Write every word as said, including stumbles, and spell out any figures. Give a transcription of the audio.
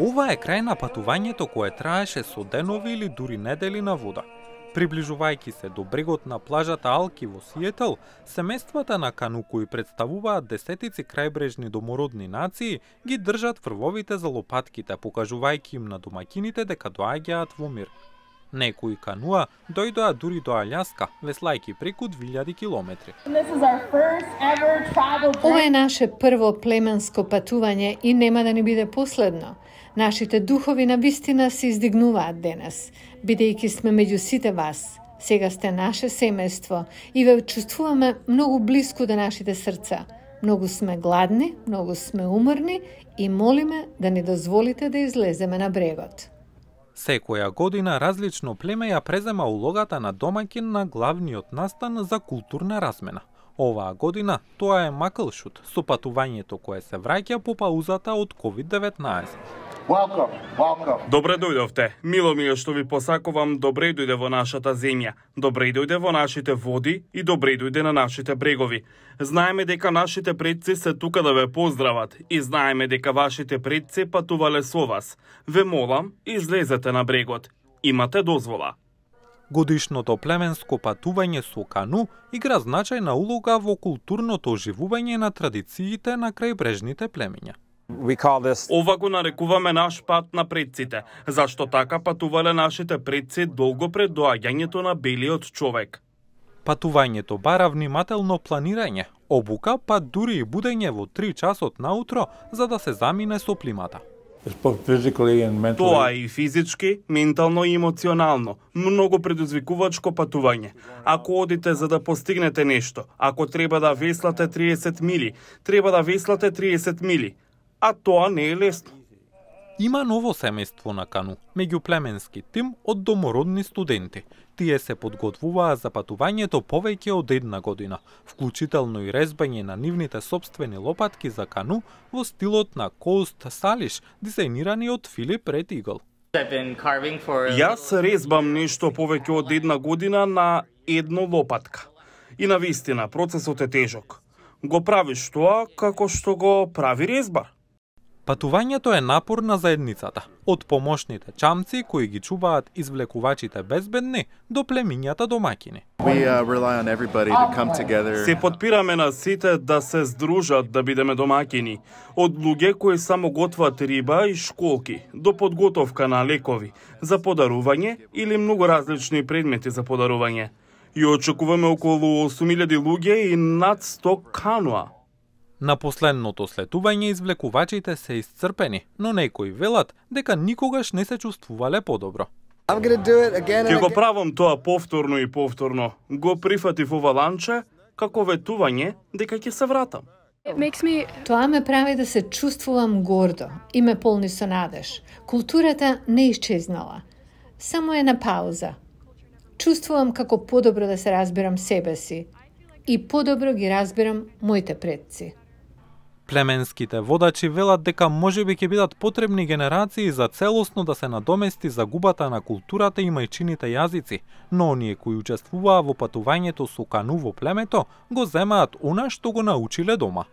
Ова е крај на патувањето кое траеше со денови или дури недели на вода. Приближувајќи се до брегот на плажата Алки во Сиетл, семејствата на кану кои представуваат десетици крајбрежни домородни нации ги држат врвовите за лопатките, покажувајќи им на домаќините дека доаѓаат во мир. Некои кануа дојдоа дури до Алјаска, веслајќи преку две илјади километри. Ова е наше прво племенско патување и нема да ни биде последно. Нашите духови на вистина се издигнуваат денес, бидејќи сме меѓу сите вас. Сега сте наше семејство и ве чувствуваме многу блиску до нашите срца. Многу сме гладни, многу сме уморни и молиме да ни дозволите да излеземе на брегот. Секоја година различно племе ја презема улогата на домаќин на главниот настан за културна размена. Оваа година тоа е Маклшут, со патувањето кое се враќа по паузата од ковид деветнаесет. Welcome, welcome. Добре дојдовте. Мило ми е што ви посакувам добре дојде во нашата земја, добре дојде во нашите води и добре дојде на нашите брегови. Знаеме дека нашите предци се тука да ве поздрават и знаеме дека вашите предци патувале со вас. Ве молам, излезете на брегот. Имате дозвола. Годишното племенско патување со кану игра значајна улога во културното оживување на традициите на крајбрежните племиња. Ова го нарекуваме наш пат на предците, зашто така патувале нашите предци долго пред доаѓањето на белиот човек. Патувањето бара внимателно планирање, обука, па дури и будење во три часот наутро за да се замине со плимата. Тоа е и физички, ментално и емоционално, многу предизвикувачко патување. Ако одите за да постигнете нешто, ако треба да веслате триесет мили, треба да веслате триесет мили. А тоа не е лесно. Има ново семејство на кану, меѓуплеменски тим од домородни студенти. Тие се подготвуваа за патувањето повеќе од една година, вклучително и резбање на нивните сопствени лопатки за кану во стилот на Coast Salish, дизајнирани од Филип Ред Игл. Јас резбам нешто повеќе од една година на едно лопатка. И навистина, процесот е тежок. Го правиш тоа како што го прави резбар. Патувањето е напор на заедницата, од помошните чамци кои ги чуваат извлекувачите безбедни до племињата домаќини. Се подпираме на сите да се здружат да бидеме домаќини, од луѓе кои само готват риба и школки, до подготовка на лекови за подарување или многу различни предмети за подарување. И очекуваме околу осум илјади луѓе и над сто кануа. На последното слетување извлекувачите се исцрпени, но некои велат дека никогаш не се чувствувале подобро. Ќе го правам тоа повторно и повторно. Го прифатив ова ланче како ветување дека ќе се вратам. Me... Тоа ме прави да се чувствувам гордо и ме полни со надеж. Културата не исчезнала, само е на пауза. Чувствувам како подобро да се разбирам себе си и подобро ги разбирам моите предци. Племенските водачи велат дека можеби ќе бидат потребни генерации за целосно да се надомести загубата на културата и мајчините јазици, но оние кои учествуваа во патувањето со кану во племето го земаат она што го научиле дома.